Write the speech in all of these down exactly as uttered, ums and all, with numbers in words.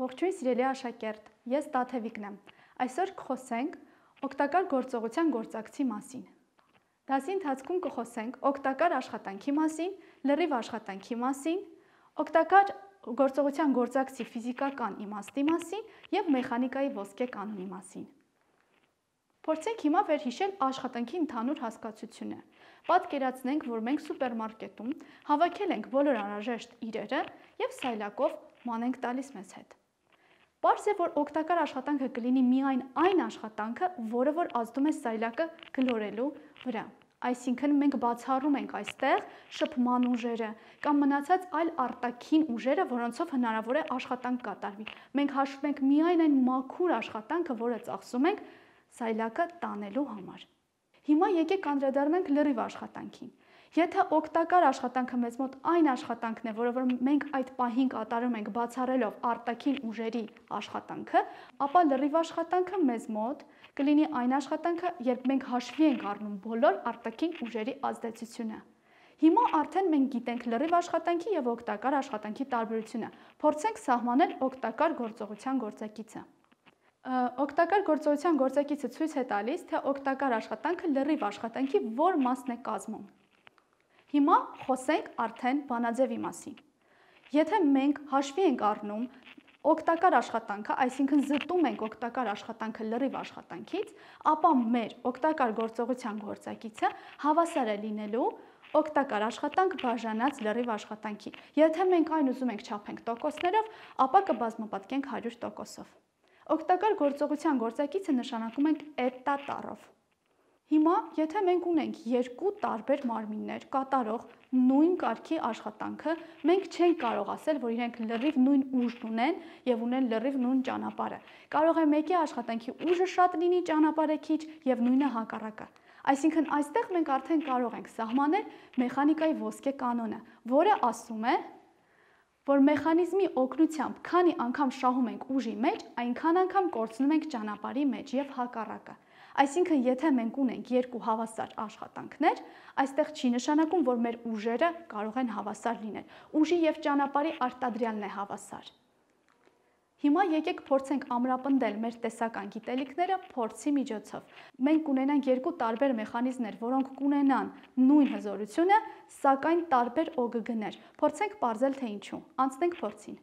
Ողջույն սիրելի աշակերտ, ես Տաթևիկն եմ։ Այսօր կխոսենք օգտակար գործողության գործակցի մասին։ Դասի ընթացքում կխոսենք օգտակար աշխատանքի մասին, լրիվ աշխատանքի մասին, օգտակար գործողության գործակցի ֆիզիկական իմաստի մասին և մեխանիկայի ոսկե կանոնի մասին։ Փորձենք հիմա վերհիշել աշխատանքի ընդհանուր հասկացությունը։ Պատկերացնենք, որ մենք սուպերմարկետում հավաքել ենք բոլոր անհրաժեշտ իրերը և սայլակով ման ենք տալիս մեզ հետ։ Պարզ է, որ օգտակար աշխատանքը կլինի միայն այն աշխատանքը, որը որ ազդում է սայլակը գլորելու վրա։ Այսինքն մենք բացառում ենք այստեղ շփման ուժերը կամ մնացած այլ արտաքին ուժերը, որոնցով հնարավոր է աշխատանք կատարվի։ Մենք հաշվում ենք միայն այն մաքուր աշխատանքը, որը ծախսում ենք սայլակը տանելու համար։ Հիմա եկեք անդրադառնանք լրիվ աշխատանքին։ Եթե օգտակար աշխատանքը մեզ մոտ այն աշխատանքն է, որը որ մենք այդ պահին կատարում ենք բացառելով արտաքին ուժերի աշխատանքը, ապա լրիվ աշխատանքը մեզ մոտ կլինի այն աշխատանքը, երբ մենք հաշվի ենք առնում բոլոր արտաքին ուժերի ազդեցությունը։ Հիմա արդեն մենք գիտենք լրիվ աշխատանքի և օգտակար աշխատանքի տարբերությունը։ Փորձենք սահմանել օգտակար գործողության գործակիցը։ Օգտակար գործողության գործակիցը ցույց է տալիս, թե օգտակար աշխատանքը լրիվ աշխատանքի որ մասն է կազմում։ Հիմա խոսենք արդեն բանաձևի մասին։ Եթե մենք հաշվի ենք առնում օգտակար աշխատանքը, այսինքն զտում ենք օգտակար աշխատանքը լրիվ աշխատանքից, ապա մեր օգտակար գործողության գործակիցը հավասար է լինելու օգտակար աշխատանք բաժանած լրիվ աշխատանքի։ Եթե մենք այն ուզում ենք չափենք տոկոսներով, ապա կբազմապատկենք հարյուր տոկոսով։ Օգտակար գործողության գործակիցը նշանակում ենք էտա տառով։ Հիմա, եթե մենք ունենք երկու տարբեր մարմիններ կատարող նույն կարգի աշխատանքը, մենք չենք կարող ասել, որ իրենք լրիվ նույն ուժն ունեն և ունեն լրիվ նույն ճանապարհը։ Կարող է մեկի աշխատանքի ուժը շատ լինի, ճանապարհը քիչ և նույնը հակառակը։ Այսինքն այստեղ մենք արդեն կարող ենք սահմանել մեխանիկայի ոսկե կանոնը, որը ասում է, որ մեխանիզմի օգնությամբ քանի անգամ շահում ենք ուժի մեջ, այնքան անգամ կորցնում ենք ճանապարհի մեջ և հակառակը։ Այսինքն, եթե մենք ունենք երկու հավասար աշխատանքներ, այստեղ չի նշանակում, որ մեր ուժերը կարող են հավասար լինել։ Ուժի և ճանապարհի արտադրյալն է հավասար։ Հիմա եկեք փորձենք ամրապնդել մեր տեսական գիտելիքները փորձի միջոցով։ Մենք կունենանք երկու տարբեր մեխանիզմներ, որոնք կունենան նույն հզորությունը, սակայն տարբեր օգգներ։ Փորձենք պարզել, թե ինչու։ Անցնենք փորձին։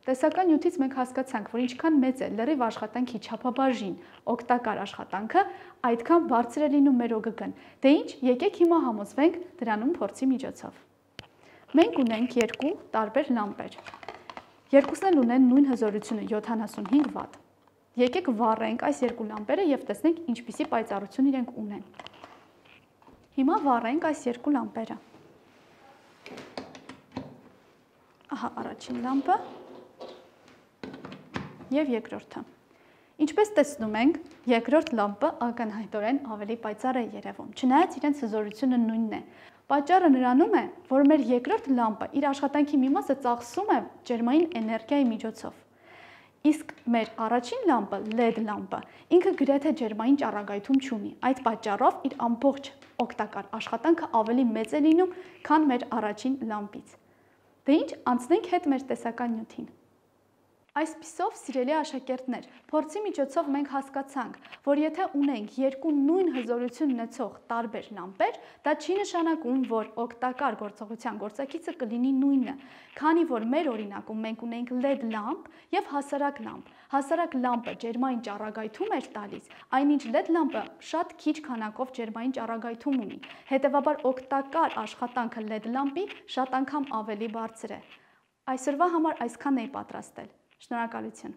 Տեսական նյութից մենք հասկացանք, որ ինչքան մեծ է լրիվ աշխատանքի չափաբաժին օգտակար աշխատանքը, այդքան բարձր է լինում մեր օգգն։ Դե ինչ, եկեք հիմա համոզվենք դրանում փորձի միջոցով։ Մենք ունենք երկու տարբեր լամպեր։ Երկուսն էլ ունեն նույն հզորությունը յոթանասունհինգ վատ։ Եկեք վառենք այս երկու լամպերը և տեսնենք ինչպիսի պայծառություն իրենք ունեն։ Հիմա վառենք այս երկու լամպերը։ Ահա առաջին լամպը և երկրորդը։ Ինչպես տեսնում ենք, երկրորդ լամպը ակնհայտորեն ավելի պայծառ է երևում, չնայած իրենց հզորությունը նույնն է։ Պատճառը նրանում է, որ մեր երկրորդ լամպը իր աշխատանքի մի մասը ծախսում է ջերմային էներգիայի միջոցով։ Իսկ մեր առաջին լամպը, լեդ լամպը, ինքը գրեթե ջերմային ճառագայթում չունի։ Այդ պատճառով իր ամբողջ օգտակար աշխատանքը ավելի մեծ է լինում, քան մեր առաջին լամպից։ Դե ինչ, անցնենք հետ մեր տեսական նյութին։ Այսպիսով, սիրելի աշակերտներ, փորձի միջոցով մենք հասկացանք, որ եթե ունենք երկու նույն հզորություն ունեցող տարբեր լամպեր, դա չի նշանակում, որ օգտակար գործողության գործակիցը կլինի նույնը, քանի որ մեր օրինակում մենք ունենք լեդ լամպ և հասարակ լամպ։ Հասարակ լամպը ջերմային ճառագայթում էր տալիս, այնինչ լեդ լամպը շատ քիչ քանակով ջերմային ճառագայթում ունի։ Հետևաբար օգտակար աշխատանքը լեդ լամպի շատ անգամ ավելի բարձր է։ Այսօրվա համար այսքանն էի պատրաստել։ Շնորհակալություն։